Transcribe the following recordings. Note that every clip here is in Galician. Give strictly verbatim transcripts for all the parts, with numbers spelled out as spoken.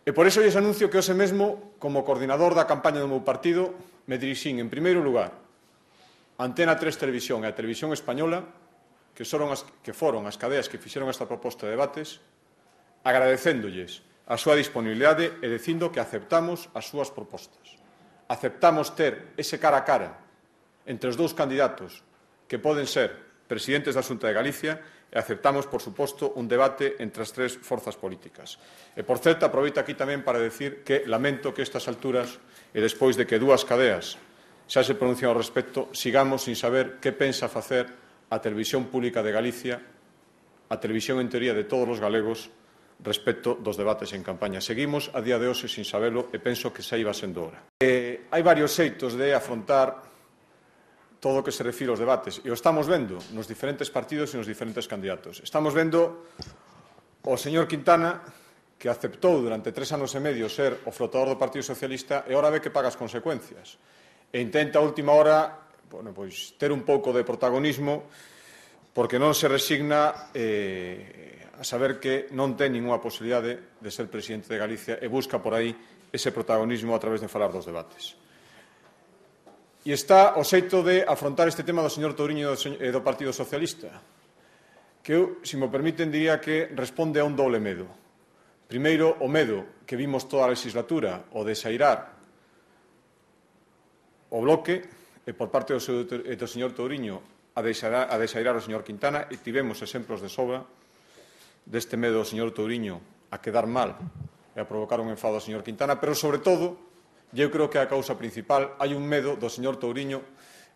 E por iso lles anuncio que hoxe mesmo, como coordinador da campaña do meu partido, me dirixín, en primeiro lugar, a Antena tres Televisión e a Televisión Española, que foron as, que foron as cadeas que fixeron esta proposta de debates, agradecéndolles a súa disponibilidade e dicindo que aceptamos as súas propostas. Aceptamos ter ese cara a cara entre os dous candidatos que poden ser presidentes da Xunta de Galicia e aceptamos, por suposto, un debate entre as tres forzas políticas. E, por certo, aproveito aquí tamén para decir que lamento que a estas alturas, e despois de que dúas cadeas xa se pronuncian ao respecto, sigamos sin saber que pensa facer a Televisión Pública de Galicia, a televisión en teoría de todos os galegos, respecto dos debates en campaña. Seguimos a día de hoxe sin sabelo e penso que xa iba sendo hora. Eh, hai varios xeitos de afrontar todo o que se refire aos debates, e o estamos vendo nos diferentes partidos e nos diferentes candidatos. Estamos vendo o señor Quintana, que aceptou durante tres anos e medio ser o flotador do Partido Socialista e ahora ve que paga as consecuencias. E intenta a última hora bueno, pois, ter un pouco de protagonismo porque non se resigna eh, a saber que non ten ninguna posibilidade de ser presidente de Galicia e busca por aí ese protagonismo a través de falar dos debates. E está o xeito de afrontar este tema do señor Touriño e do Partido Socialista, que eu, se me permiten, diría que responde a un doble medo. Primeiro, o medo que vimos toda a legislatura, o de sairar o bloque, e por parte do, seu, do señor Touriño a desairar, a desairar o señor Quintana, e tivemos exemplos de sobra deste medo do señor Touriño a quedar mal e a provocar un enfado ao señor Quintana, pero, sobre todo, eu creo que a causa principal, hai un medo do señor Touriño,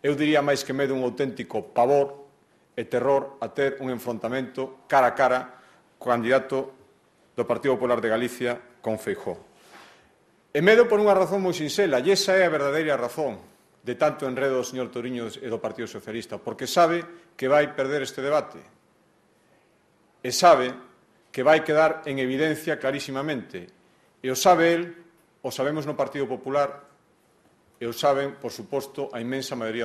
eu diría máis que medo un auténtico pavor e terror a ter un enfrontamento cara a cara co candidato do Partido Popular de Galicia con Feijóo. E medo por unha razón moi sinxela, e esa é a verdadeira razón de tanto enredo do señor Touriño e do Partido Socialista, porque sabe que vai perder este debate e sabe que vai quedar en evidencia clarísimamente, e o sabe el, o sabemos no Partido Popular e o saben, por suposto, a inmensa maioría